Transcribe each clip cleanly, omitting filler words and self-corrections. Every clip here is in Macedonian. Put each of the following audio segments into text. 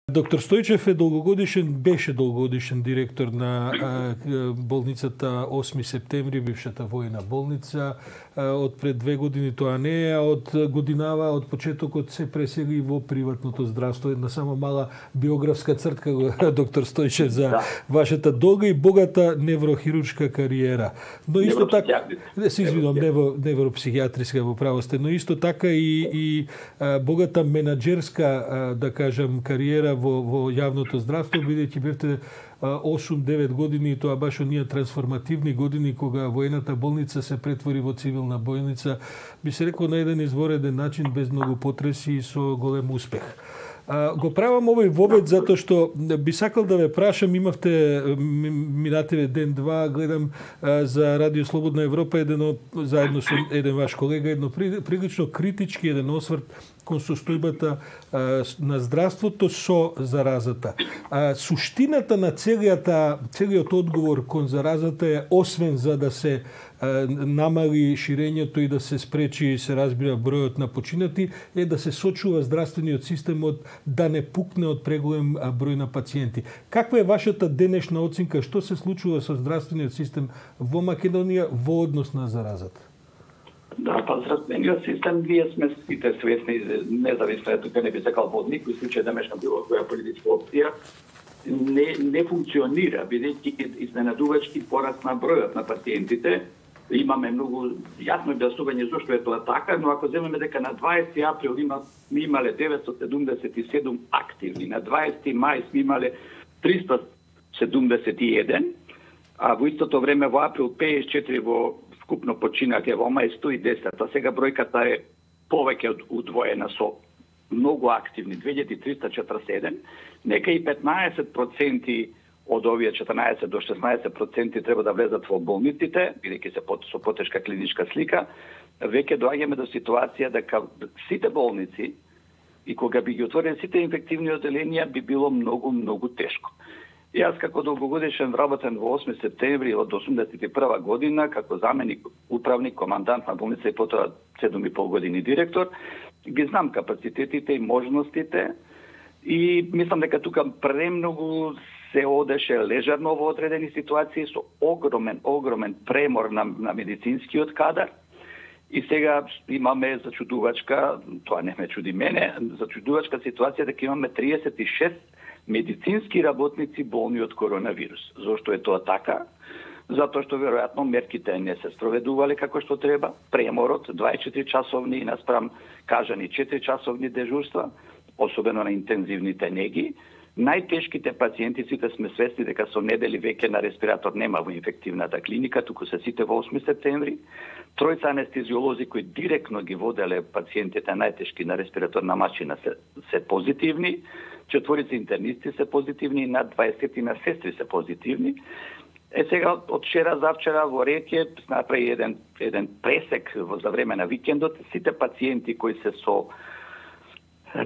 Доктор Стојчев беше долгогодишен директор на болницата 8 септември, бившата војна болница. Од пред 2 години тоа не е, а од годинава, од почетокот се пресели во приватното здравство. Една само мала биографска цртка, доктор Стојчев, за вашата долга и богата неврохируршка кариера. Но исто така, се извинувам, невропсихијатриска во право сте, но исто така и богата менаџерска, да кажам, кариера во јавното здравство, бидејќи бевте 8-9 години, и тоа баш оние трансформативни години кога воената болница се претвори во цивилна болница, би се рекол на еден извореден начин, без многу потреси и со голем успех. Го правам овој вовед затоа што би сакал да ве прашам, имавте минативе ден-два, гледам за Радио Слободна Европа, заедно со еден ваш колега, едно прилично критички еден осврт кон состојбата на здравството со заразата. Суштината на целиот одговор кон заразата е, освен за да се намали ширењето и да се спречи, се разбира, бројот на починати, е да се сочува здравствениот системот да не пукне од преголем број на пациенти. Каква е вашата денешна оценка? Што се случува со здравствениот систем во Македонија во однос на заразата? Да, па здравствениот систем, ние сме сите свесни, независно е тука, не би сакал во никој случај да мешам било која политичка опција, не функционира, бидејќи изненадувачки порасна бројот на пациентите. Имаме многу јасно објаснување зошто е тоа така, но ако земеме дека на 20 април сме имале 977 активни, на 20 мај сме имале 371, а во истото време во април 54 во скупно починати, во мај 110, а сега бројката е повеќе од удвоена со многу активни, 2347, нека и 15% од овие 14 до 16% треба да влезат во болниците, бидејќи се со потешка клиничка слика, веќе доаѓаме до ситуација дека сите болници и кога би ги отворили сите инфективни оделенија би било многу тешко. И јас како долгогодишен вработен во 8 септември од 81 година, како заменик управник, командант на болница и потоа 7,5 години директор, ги знам капацитетите и можностите и мислам дека тука премногу се одеше лежарно во одредени ситуации со огромен премор на медицинскиот кадар. И сега имаме зачудувачка, тоа не ме чуди мене, зачудувачка ситуација дека имаме 36 медицински работници болни од коронавирус. Зошто е тоа така? Затоа што веројатно мерките не се спроведувале како што треба, преморот 24 часовни наспрам кажани 4 часовни дежурства, особено на интензивните неги. Најтешките пациенти, сите сме свесни дека со недели веќе на респиратор нема во инфективната клиника, туку се сите во 8 септември. Тројца анестезиолози кои директно ги воделе пациентите најтешки на респираторна машина се позитивни, 4 интернисти се позитивни и над 20 на сестри се позитивни. Сега од вчера завчера во Ретје направи еден пресек за време на викендот, сите пациенти кои се со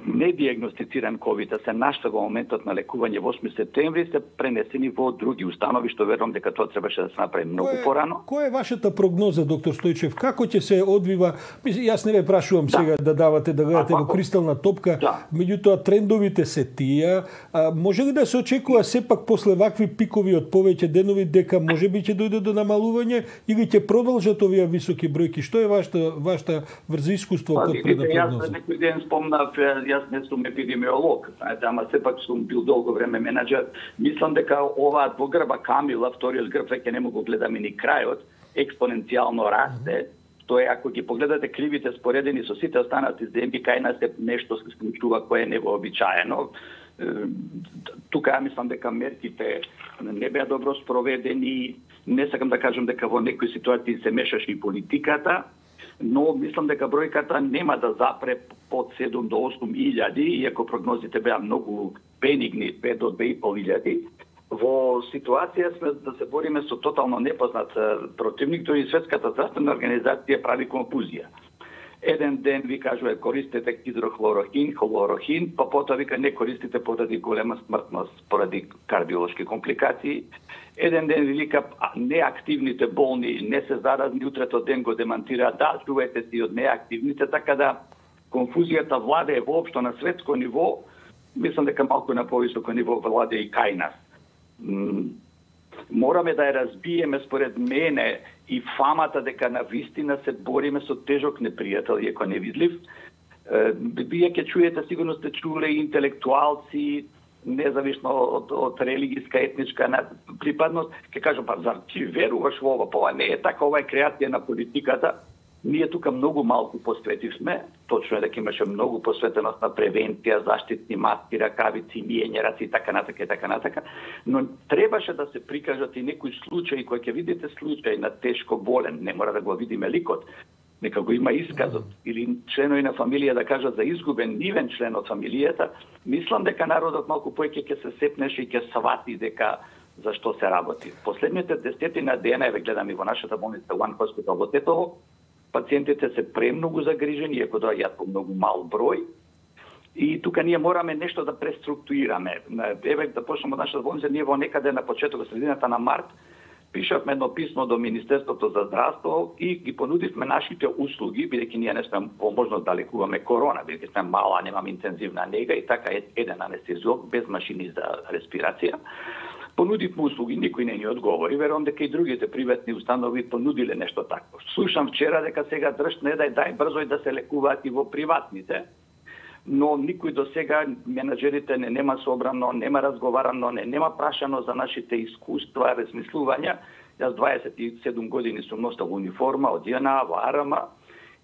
недиагностициран ковид, се нашта во моментот на лекување во 8 септември, се пренесени во други установи, што верувам дека тоа требаше да се направи многу порано. Која е вашата прогноза, доктор Стојчев? Како ќе се одвива? Јас не ве прашувам сега да гледате во кристална топка, меѓутоа трендовите се тие. Може ли да се очекува сепак после вакви пикови од повеќе денови дека можеби ќе дојде до намалување или ќе продолжат овие високи бројки? Што е вашата врз искуство код предпрогноза? Јас некој ден спомнав, јас не сум епидемиолог, ама сепак сум бил долго време менаџер. Мислам дека оваа двогрба камила, вториот грб веќе не му го гледаме ни крајот, експоненцијално расте. Тоа е, ако ги погледате кривите споредени со сите останати земји, кај нас е нешто се случува кое е невообичаено. Тука ја мислам дека мерките не беа добро спроведени. Не сакам да кажам дека во некои ситуации се мешаше и политиката, но мислам дека бројката нема да запре под 7 до 8 илјади, иако прогнозите беа многу бенигни, 5 до 2,5 илјади. Во ситуација сме да се бориме со тотално непознат противник, тој и Светската здравствена организација прави конфузија. Еден ден ви кажува користете хидрохлорохин, хлорохин, па потоа вика не користите поради голема смртност, поради кардиолошки компликации. Еден ден ви вика неактивните болни не се заразни, утретото ден го демантира, да, чувајте си од неактивните, така да конфузијата владее воопшто на светско ниво мислам дека малку на повисоко ниво владе и кај нас. Мораме да ја разбиеме според мене и фамата дека на вистина се бориме со тежок непријател, иако невидлив. Вие ќе чуете, сигурно сте чуле интелектуалци, независно од религиска, етничка припадност, ќе кажам, па зар ти веруваш во ова? Ова не е така, ова е креација на политиката. Ние тука многу малку посветивме, точно е дека имаше многу посветеност на превенција, заштитни маски, ракавици, миење раци и така натака, но требаше да се прикажат и некои случаи, кои ќе видите случај на тешко болен, не мора да го видиме ликот, нека го има исказот, или членови на фамилија да кажат за изгубен нивен член од фамилијата. Мислам дека народот малку поеќе ќе се сепнеше и ќе свати дека за што се работи. Последните 10 дена, еве гледам и во нашата болница One Hospital во Тетово, пациентите се премногу загрижени, иако доаѓаат по многу мал број. И тука ние мораме нешто да преструктурираме. Еве да почнеме од нашата болница, ние во некаде на почетокот, средината на март, пишавме едно писмо до Министерството за здравство и ги понудивме нашите услуги, бидејќи ние не сме во можност да лекуваме корона, бидејќи сме мала, немаме интензивна нега и така еден анестезиолог без машини за респирација. Понудивме услуги, никој не ни одговори. Верувам дека и другите приватни установи понудиле нешто такво. Слушам вчера дека сега држт не дај брзо и да се лекуваат и во приватните, но никој до сега, менаџерите нема собрано, нема разговарано, нема прашано за нашите искуства, размислувања. Јас 27 години сум носел униформа од ЈНА во АРМ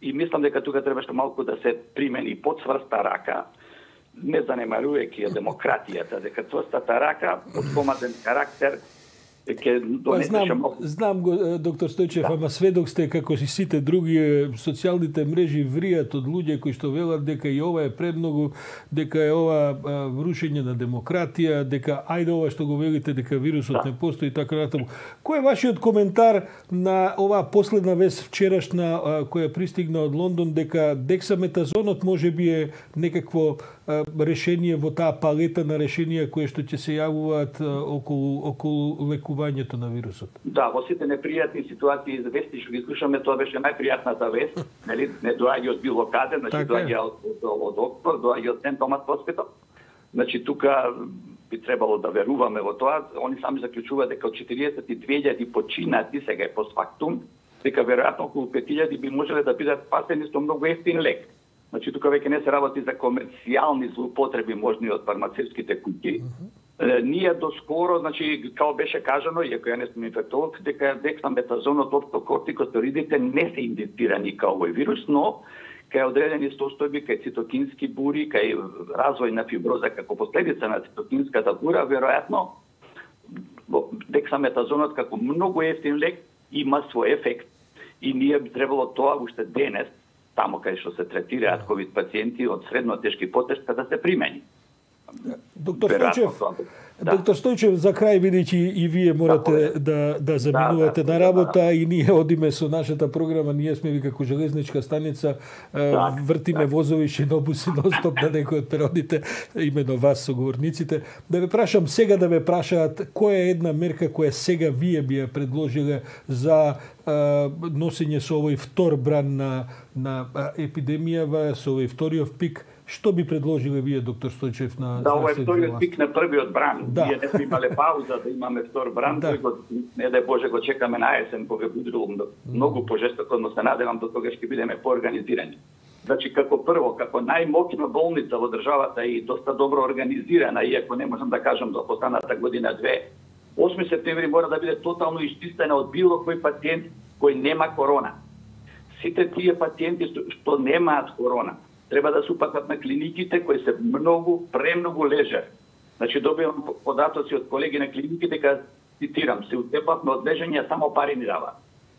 и мислам дека тука требаше малку да се примени подсврста рака, не занемарувајќи демократијата, дека тврстата рака од команден карактер ќе донесе малку. Знам го, доктор Стојчев, ама сведок сте како и сите други, социјалните мрежи вријат од луѓе кои што велат дека и ова е премногу, дека е ова рушење на демократија, дека ајде ова што го велите дека вирусот не постои и така натаму. Кој е вашиот коментар на оваа последна вест вчерашна која пристигна од Лондон дека дексаметазонот можеби е некакво решение во таа палета на решенија кои што ќе се јавуваат околу лекувањето на вирусот? Да, во сите непријатни ситуации за вести што ги слушаме, тоа беше најпријатната вест, нели, не доаѓа од било каде, значи доаѓа од Оксфорд, доаѓа од Сент Томас Хоспитал. Значи тука би требало да веруваме во тоа. Они сами заклучуваат дека од 42.000 починати сега е постфактум, дека веројатно околу 5.000 би можеле да бидат спасени со многу ефтин лек. Значи тука веќе не се работи за комерцијални злоупотреби можни од фармацевтските куќи. Ние доскоро, значи, као беше кажано, иако ја не сум инфектолог, дека дексаметазонот, кортикостероидите не се индицирани као овој вирус, но кај одредени состојби, кај цитокински бури, кај развој на фиброза како последица на цитокинската бура, веројатно дексаметазонот како многу ефтин лек има свој ефект и ние би требало тоа уште денес, тамо кај што се третираат ковид пациенти од средно тешки потешка да се примени. Доктор Стојчев, за крај, бидејќи и вие морате да заминувате на работа и ние одиме со нашата програма, ние сме ви како железничка станица, вртиме возови, шинобуси ностоп на некои од перодите, имено вас соговорниците. Да ве прашам сега, да ве прашаат која е една мерка која сега вие би ја предложиле за носење со овој втор бран на епидемијава, со овој вториот пик. Што би предложиле вие, доктор Стојчев, на да, ова е вториот пик на првиот бран. Да. Ние не сме имале пауза да имаме втор бран, да. Не дај Боже го чекаме на есен, кога буде многу пожестоко, но се надевам до тога ќе бидеме поорганизирани. Значи, како прво, како најмоќна болница во државата и доста добро организирана, иако не можам да кажам за последната година-две, 8 септември мора да биде тотално исчистена од било кој пациент кој нема корона. Сите тие пациенти што немаат корона, треба да се упатат на клиниките кои се премногу лежер. Значи, добивам податоци од колеги на клиниките дека, цитирам, се утепавме од лежење, само пари ни дава.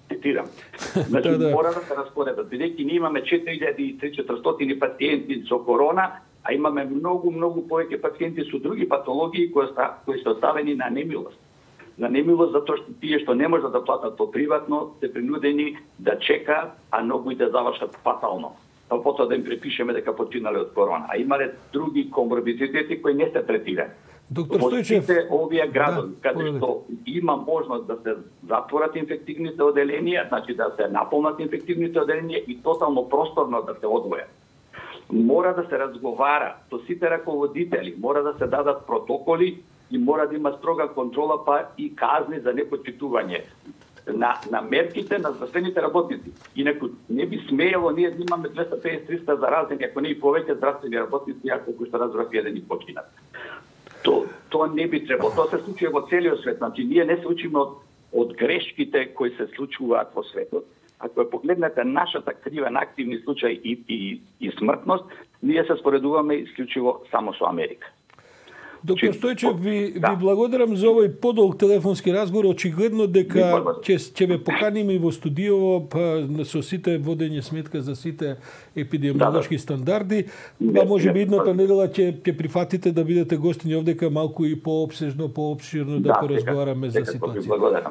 Цитирам. Значи, мора да се распоредат. Бидејќи ние имаме 4300 пациенти со корона, а имаме многу повеќе пациенти со други патологии кои се оставени на немилост. На немилост затоа што тие што не можат да платат по приватно, се принудени да чекаат, а многу и да завршат фатално. Потоа да им препишеме дека починале од корона. А имале други коморбидитети кои не се третираат. Доктор Стојчев, овие градови, каде што има можност да се затворат инфективните оделенија, значи да се наполнат инфективните оделенија и тотално просторно да се одвојат. Мора да се разговара со сите раководители, мора да се дадат протоколи и мора да има строга контрола, па и казни за непочитување на мерките на здравствените работници. Инаку не би смеело ние да имаме 250-300 заразени, ако не и повеќе здравствени работници, ако кои што разбрав еден и починат. Тоа не би требало. Тоа се случува во целиот свет. Значи, ние не се учиме од грешките кои се случуваат во светот. Ако ја погледнете нашата крива на активни случаи и смртност, ние се споредуваме исклучиво само со Америка. Доктор Стојчев, ви благодарам за овој подолг телефонски разговор. Очигледно дека ќе ве поканиме и во студиово со сите водење сметка за сите епидемиолошки стандарди. Па може би идната недела ќе прифатите да бидете гостини овдека малку и пообсежно, пообширно да поразговараме за ситуација.